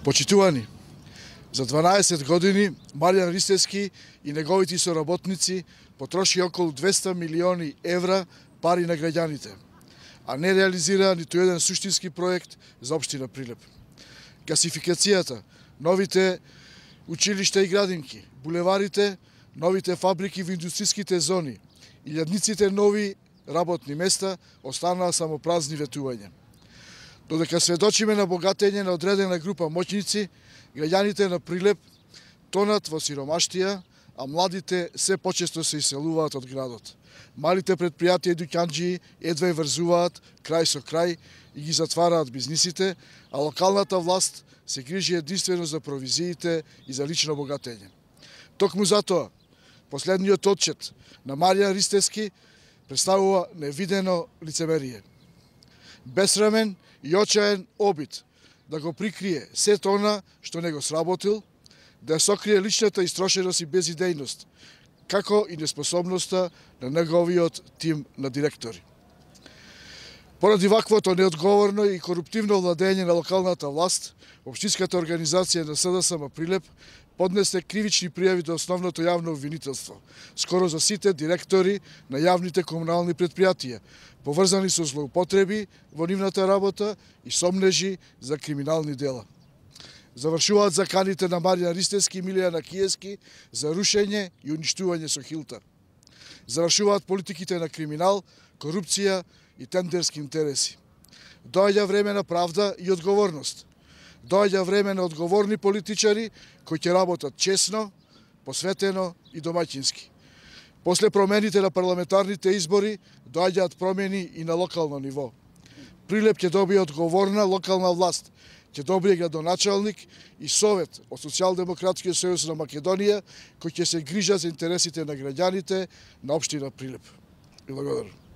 Почитувани, за 12 години Маријан Ристевски и неговите соработници потроши околу 200 милиони евра пари на граѓаните, а не реализира ниту еден суштински проект за општина Прилеп. Гасификацијата, новите училишта и градинки, булеварите, новите фабрики во индустријските зони, илјадниците нови работни места останаа само празни ветувања. Додека сведочиме на богатење на одредена група моќници, граѓаните на Прилеп тонат во сиромаштија, а младите се почесто се иселуваат од градот. Малите предпријатија и дуќанџии едва врзуваат крај со крај и ги затвараат бизнисите, а локалната власт се грижи единствено за провизиите и за лично богатење. Токму затоа, последниот отчет на Маријан Ристевски представува невидено лицемерие. Бесрамен и очаен обид да го прикрие сето она што не го сработил, да ја сокрие личната истрошеност и безидејност, како и неспособноста на неговиот тим на директори. Поради ваквото неодговорно и коруптивно владење на локалната власт, Општинската организација на СДСМ Прилеп поднесе кривични пријави до основното јавно обвинителство, скоро за сите директори на јавните комунални предпријатија, поврзани со злоупотреби во нивната работа и сомнежи за криминални дела. Завршуваат заканите на Маријан Ристевски и Милијана Киевски за рушење и уништување со хилта. Завршуваат политиките на криминал, корупција и тендерски интереси. Доаѓа време на правда и одговорност. Доаѓа време на одговорни политичари кои ќе работат честно, посветено и домаќински. После промените на парламентарните избори доаѓаат промени и на локално ниво. Прилеп ќе добие одговорна локална власт, ќе добие градоначалник и совет од Социјалдемократскиот сојуз на Македонија кои ќе се грижат за интересите на граѓаните на општина Прилеп. Благодарам.